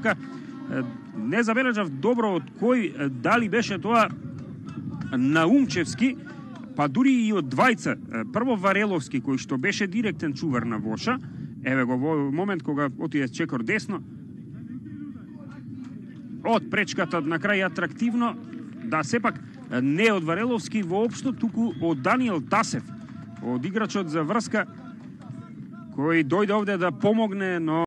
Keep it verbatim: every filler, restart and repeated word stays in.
врска. Не забележав добро од кој, дали беше тоа Наумчевски, па дури и од двајца. Прво Вареловски, кој што беше директен чувар на Воша, еве го во момент кога отиде чекор десно, од пречката на крај атрактивно, да сепак не од Вареловски воопшто, туку од Даниел Тасев, од играчот за врска, кој дојде овде да помогне, но